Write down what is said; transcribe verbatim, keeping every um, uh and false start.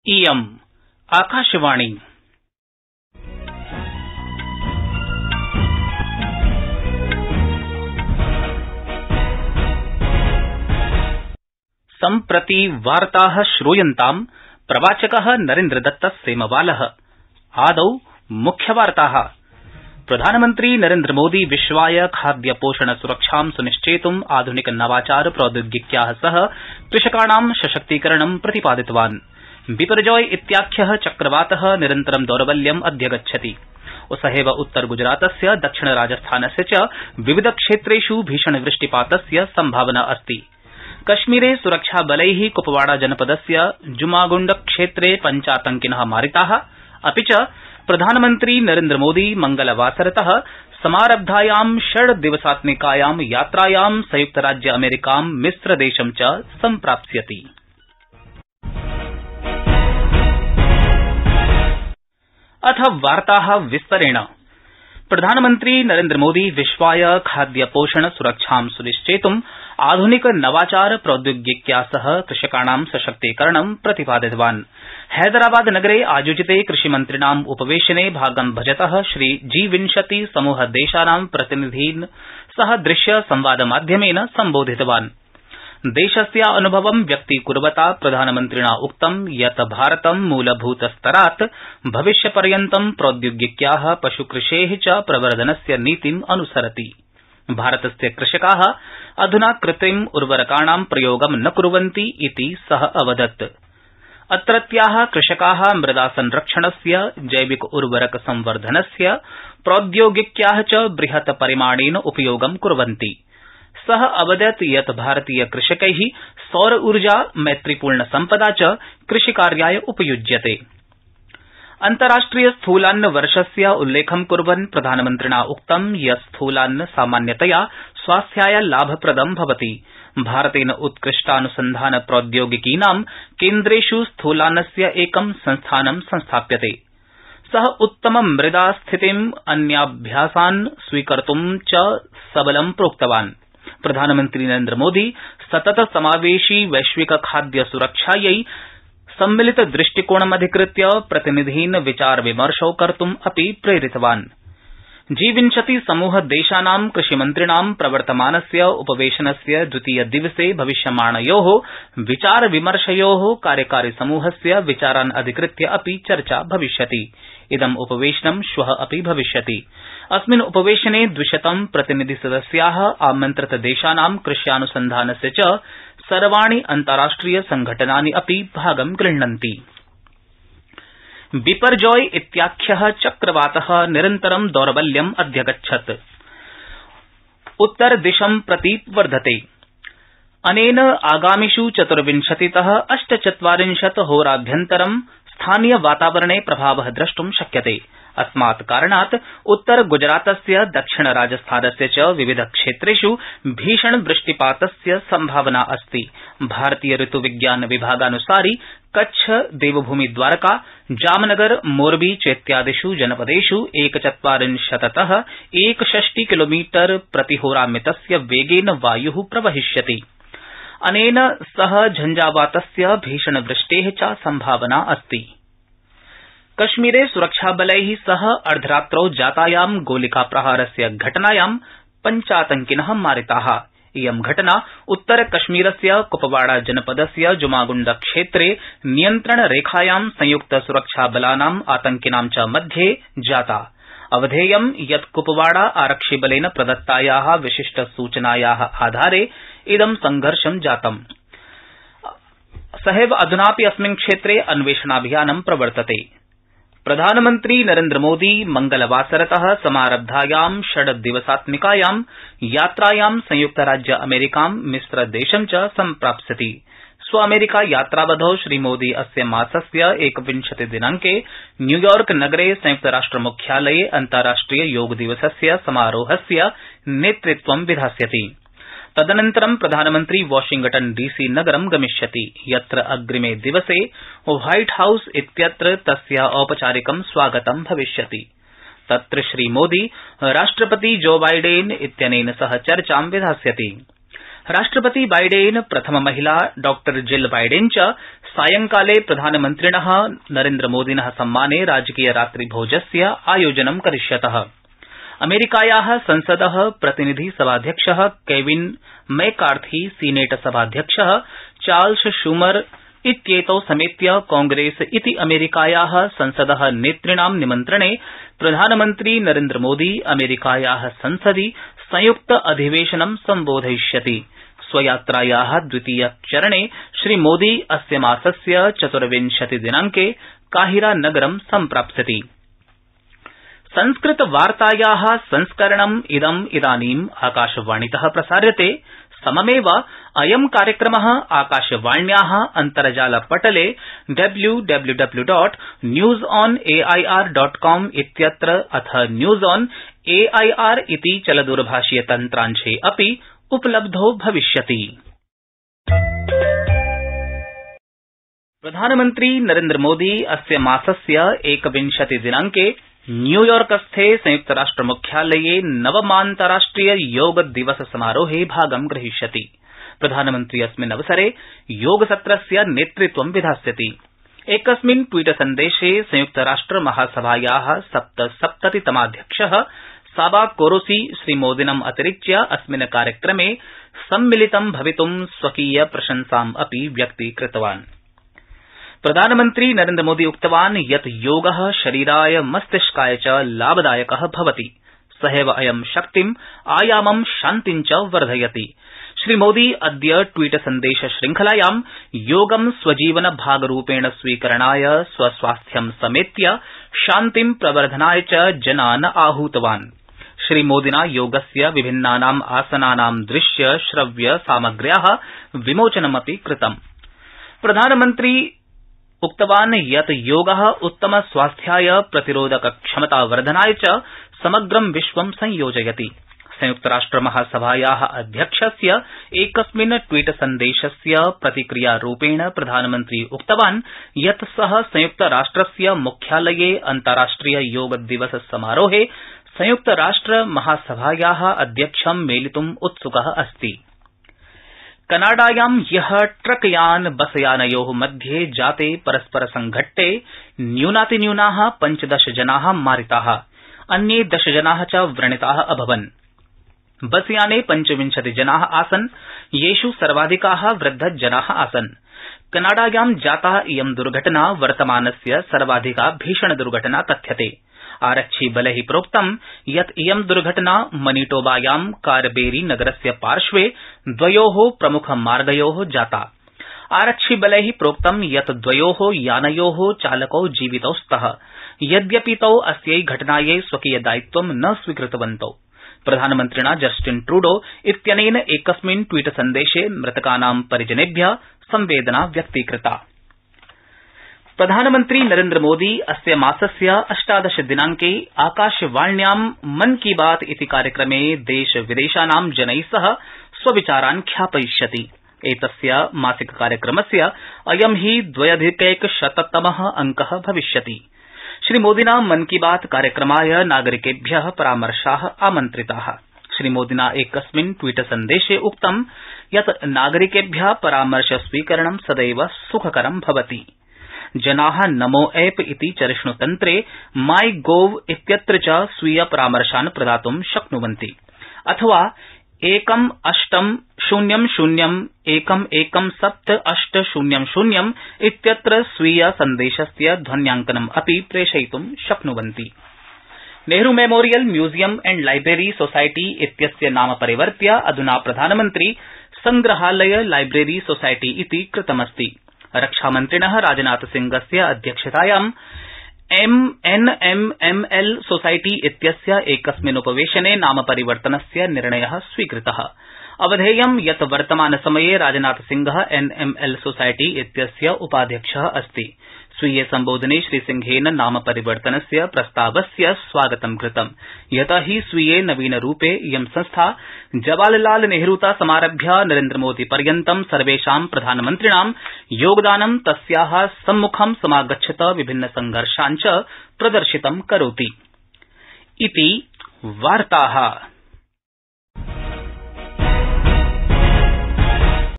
इयम् आकाशवाणी। सम्प्रति वार्ताः श्रूयन्ताम् प्रवाचकः नरेन्द्रदत्त सेमवालः। आदौ मुख्यवार्ताः। प्रधानमन्त्री नरेन्द्रमोदी विश्वाय खाद्य पोषण सुरक्षां सुनिश्चेतुम् आधुनिक नवाचार प्रौद्योगिक्याः सह कृषकाणां सशक्तीकरणं प्रतिपादितवान्। बिपरजॉय इत्याख्यः चक्रवातः निरन्तरं दौर्बल्यम् अध्यगच्छति। उसहेव उत्तर गुजरातस्य दक्षिण राजस्थानस्य च विविध क्षेत्रेष् भीषणवृष्टिपातस्य सम्भावना अस्ति। कश्मीरे सुरक्षाबलैः कुपवाड़ा जनपदस्य जुमागुण्ड क्षेत्रे पञ्चातंकिनः मारिताः। अपि च प्रधानमन्त्री नरेन्द्रमोदी मंगलवासरतः समारब्धायां षड्दिवसात्मिकायां यात्रायां संयुक्तराज्य अमेरिकां मिस्रदेशं च सम्प्राप्स्यति। अथ वार्ताः विस्तरेण। प्रधानमन्त्री नरेन्द्रमोदी विश्वाय खाद्य पोषण सुरक्षां सुनिश्चेतुम् आधुनिक नवाचार प्रौद्योगिक्या सह कृषकाणां सशक्तीकरणं प्रतिपादितवान्। हैदराबाद नगरे आयोजिते कृषिमन्त्रिणाम् उपवेशने भागं भजतः श्री जी विंशति समूह देशानां प्रतिनिधीन् सह दृश्य संवादमाध्यमेन सम्बोधितवान्। देशस्य अनुभवं व्यक्तीकुर्वता प्रधानमन्त्रिणा उक्तं यत् भारतं मूलभूतस्तरात् भविष्यपर्यन्तं प्रौद्योगिक्याः पशुकृषेः च प्रवर्धनस्य नीतिम् अनुसरति। भारतस्य कृषकाः अधुना कृत्रिम उर्वरकाणां प्रयोगं न कुर्वन्ति इति सः अवदत्। अत्रत्याः कृषकाः मृदा संरक्षणस्य जैविक उर्वरक संवर्धनस्य प्रौद्योगिक्याः च बृहत् परिमाणेन उपयोगं कुर्वन्ति। सः अवदत् यत् भारतीय कृषकैः सौर ऊर्जा मैत्रीपूर्ण सम्पदा च कृषिकार्याय उपयुज्यते। अन्ताराष्ट्रिय स्थूलान्न वर्षस्य उल्लेखं कुर्वन् प्रधानमन्त्रिणा उक्तं यत् स्थूलान्न सामान्यतया स्वास्थ्याय लाभप्रदं भवति। भारतेन उत्कृष्टानुसन्धान प्रौद्योगिकीनां केन्द्रेष् स्थूलान्नस्य एकं संस्थानं संस्थाप्यते। सः उत्तम मृदा स्थितिम् अन्याभ्यासान् स्वीकर्तुं च सबलं प्रोक्तवान्। प्रधानमन्त्री नरेन्द्रमोदी सतत समावेशी वैश्विक खाद्य सुरक्षायै सम्मिलित दृष्टिकोणमधिकृत्य प्रतिनिधीन् विचार विमर्शौ कर्तुम् अपि प्रेरितवान्। जी विंशति समूह देशानां कृषिमन्त्रिणां प्रवर्तमानस्य उपवेशनस्य द्वितीय दिवसे भविष्यमाणयोः विचार विमर्शयोः कार्यकारी समूहस्य विचारान् अधिकृत्य अपि चर्चा भविष्यति। इदम् उपवेशनं श्वः अपि भविष्यति। अस्मिन् उपवेशने द्विशतं प्रतिनिधिसदस्याः आमन्त्रित देशानां कृष्यानुसन्धानस्य च सर्वाणि अन्ताराष्ट्रिय संघटनानि अपि भागं गृह्णन्ति। बिपरजॉय इत्याख्यः चक्रवातः निरन्तरं दौर्बल्यम् अध्यगच्छत्। उत्तरदिशं प्रति वर्धते। अनेन आगामिष् चतुर्विंशतितः अष्टचत्वारिंशत् होराभ्यन्तरं स्थानीय वातावरणे प्रभावः द्रष्टुं शक्यते। अस्मात् कारणात् उत्तर गुजरातस्य दक्षिण राजस्थानस्य च विविध क्षेत्रेष् भीषण वृष्टिपातस्य सम्भावना अस्ति। भारतीय ऋतुविज्ञान विभागानुसारि कच्छ, देवभूमि द्वारका, जामनगर, मोरबी चेत्यादिष् जनपदेष् एकचत्वारिंशततः एकषष्टि किलोमीटर प्रतिहोरामितस्य वेगेन वायुः प्रवहिष्यति। अनेन सह झंझावातस्य भीषणवृष्टेः च सम्भावना अस्ति। कश्मीरे सुरक्षाबलैः सह अर्धरात्रौ जातायां गोलिकाप्रहारस्य घटनायां पञ्चातंकिनः मारिताः। इयं घटना उत्तर कश्मीरस्य कुपवाड़ा जनपदस्य जुमागुण्ड क्षेत्रे नियन्त्रणरेखायां संयुक्त सुरक्षाबलानाम् आतंकिनां च मध्ये जाता। अवधेयं यत् कुपवाड़ा आरक्षिबलेन प्रदत्तायाः विशिष्ट सूचनायाः आधारे इदं संघर्षं जातम्। सहैव अधुनापि अस्मिन् क्षेत्रे अन्वेषणाभियानं प्रवर्तते। प्रधानमन्त्री नरेन्द्रमोदी मंगलवासरतः समारब्धायां षड्दिवसात्मिकायां यात्रायां संयुक्तराज्य अमेरिकां मिस्रदेशं च सम्प्राप्स्यति। स्व अमेरिका यात्रावधौ श्रीमोदी अस्य मासस्य एकविंशति दिनांके न्यूयॉर्क नगरे संयुक्तराष्ट्रमुख्यालये अन्ताराष्ट्रिय योग दिवसस्य समारोहस्य नेतृत्वं विधास्यति। तदनन्तरं प्रधानमन्त्री वाशिंगटन डीसी नगरं गमिष्यति, यत्र अग्रिमे दिवसे व्हाइट हाउस इत्यत्र तस्य औपचारिकं स्वागतं भविष्यति। तत्र श्रीमोदी राष्ट्रपति जो बाइडेन इत्यनेन सह चर्चां विधास्यति। राष्ट्रपति बाइडेन प्रथम महिला डॉ जिल बाइडेन च सायंकाले प्रधानमन्त्रिण नरेन्द्रमोदिन सम्माने राजकीय रात्रिभोजस्य आयोजनं करिष्यतः। अमेरिकाया संसद प्रतिनिधि सभाध्यक्ष केविन मैकार्थी सीनेट सभाध्यक्ष चार्ल्स शूमर इत्येतौ समेत्य कांग्रेस इति अमेरिकाया संसद नेतृणां निमन्त्रणे प्रधानमन्त्री नरेन्द्रमोदी अमेरिकाया संसदि संयुक्त अधिवेशनं सम्बोधयिष्यति। स्वयात्राया द्वितीय चरणे श्रीमोदी अस्य मासस्य चतुर्विंशति दिनांके काहिरा नगरं सम्प्राप्स्यति। संस्कृतवार्ताया संस्करणम् इदम् इदानीम् आकाशवाणीतः प्रसार्यते। सममेव अयं कार्यक्रम आकाशवाण्या अन्तर्जालपटले W W W dot news on AIR dot com इत्यत्र अथ न्यूज ऑन एआईआर इति चलदूरभाषीय तन्त्रांशे अपि उपलब्धो भविष्यति। प्रधानमन्त्री नरेन्द्रमोदी अस्य मासस्य एकविंशति दिनांके न्यूयॉर्कस्थे संयुक्तराष्ट्रमुख्यालये नवमान्तराष्ट्रिय योग दिवस समारोहे भागं ग्रहीष्यति। प्रधानमन्त्री अस्मिन् अवसरे योगसत्रस्य नेतृत्वं विधास्यति। एकस्मिन् ट्वीट सन्देशे संयुक्तराष्ट्र महासभाया सप्तसप्ततितमाध्यक्ष साबा कोरोसी श्रीमोदिनम् अतिरिच्य अस्मिन् कार्यक्रमे सम्मिलितं भवितुं स्वकीय प्रशंसाम् अपि व्यक्तीकृतवान्। प्रधानमन्त्री नरेन्द्रमोदी उक्तवान् यत् योग शरीराय मस्तिष्काय च लाभदायक भवति। सहैव अयं शक्तिम् आयामं शान्तिं च वर्धयति। श्रीमोदी अद्य ट्वीट सन्देश श्रृंखलायां योगं स्वजीवन भागरूपेण स्वीकरणाय स्वस्वास्थ्यं समेत्य शान्तिं प्रवर्धनाय च जनान् आहूतवान्। श्रीमोदिना योगस्य विभिन्नानाम् आसनानां दृश्य श्रव्य सामग्र्या विमोचनमपि कृतम्। प्रधानमन्त्री उक्तवान् यत् योग उत्तम स्वास्थ्याय प्रतिरोधक क्षमतावर्धनाय च समग्रं विश्वं संयोजयति। संयुक्तराष्ट्र महासभाया अध्यक्षस्य एकस्मिन् ट्वीट सन्देशस्य प्रतिक्रियारूपेण प्रधानमन्त्री उक्तवान् यत् सः संयुक्तराष्ट्रस्य मुख्यालये अन्ताराष्ट्रिय योग दिवस समारोहे संयुक्तराष्ट्र महासभाया अध्यक्षं मेलितुम् उत्सुकः अस्ति। कनाडायां ह्यः ट्रकयान बसयानयो मध्ये जाते परस्पर संघट्टे न्यूनातिन्यूना पञ्चदश जना मारिता, अन्ये दश जना च व्रणिता अभवन्। बसयाने पञ्चविंशति जना आसन्, येष् सर्वाधिका वृद्धजना आसन्। कनाडायां जाता इयं दुर्घटना वर्तमानस्य सर्वाधिका भीषण दुर्घटना कथ्यते। आरक्षिबलै प्रोक्तं यत् इयं दुर्घटना मनीटोबायां कारबेरी नगरस्य पार्श्वे द्वयो प्रमुखमार्गयो जाता। आरक्षिबलै प्रोक्तं यत् द्वयो यानयो चालकौ जीवितौ स्तः, यद्यपि तौ अस्यै घटनायै स्वकीयदायित्वं न स्वीकृतवन्तौ। प्रधानमन्त्रिणा जस्टिन ट्रूडो इत्यनेन एकस्मिन् ट्वीट सन्देशे मृतकानां परिजनेभ्य संवेदना व्यक्तीकृता। प्रधानमन्त्री नरेन्द्रमोदी अस्य मासस्य अष्टादश दिनांके आकाशवाण्यां मन की बात इति कार्यक्रमे देश विदेशानां जनै सह स्वविचारान् ख्यापयिष्यति। एतस्य मासिक कार्यक्रमस्य अयं हि द्व्यधिकैकशततमः अंक भविष्यति। श्रीमोदिना मन की बात कार्यक्रमाय नागरिकेभ्य परामर्शा आमन्त्रिता। श्रीमोदिना एकस्मिन् ट्वीट सन्देशे उक्तं यत् नागरिकेभ्य परामर्श स्वीकरणं सदैव सुखकरं भवति। जना नमो ऐप इति चरिष्णुतन्त्रे माई गोव इत्यत्र च स्वीय परामर्शान् प्रदातुं शक्नुवन्ति, अथवा एकम् अष्टं शून्यं शून्यम् एकम् एकं सप्त अष्ट शून्यं शून्यम् इत्यत्र स्वीय सन्देशस्य ध्वन्याङ्कनम् अपि प्रेषयितुं शक्नुवन्ति। Nehru memorial museum and library society इत्यस्य नाम परिवर्त्य अधुना प्रधानमन्त्री संग्रहालय लाइब्रेरी सोसाइटी इति कृतमस्ति। रक्षामन्त्रिणः राजनाथसिंहस्य अध्यक्षतायां M N M M L society इत्यस्य एकस्मिन् उपवेशने नामपरिवर्तनस्य निर्णयः स्वीकृतः। अवधेयं यत् वर्तमानसमये राजनाथसिंहः एन एम एल सोसाइटी इत्यस्य उपाध्यक्षः अस्ति। स्वीये सम्बोधने श्रीसिंहेन नामपरिवर्तनस्य प्रस्तावस्य स्वागतं कृतं, यत हि स्वीये नवीनरूपे इयं संस्था जवाहरलाल नेहरूतः समारभ्य नरेन्द्रमोदी पर्यन्तं सर्वेषां प्रधानमन्त्रिणां योगदानं तस्याः सम्मुखं समागच्छत विभिन्न संघर्षान् च प्रदर्शितं करोति। इति वार्ताः।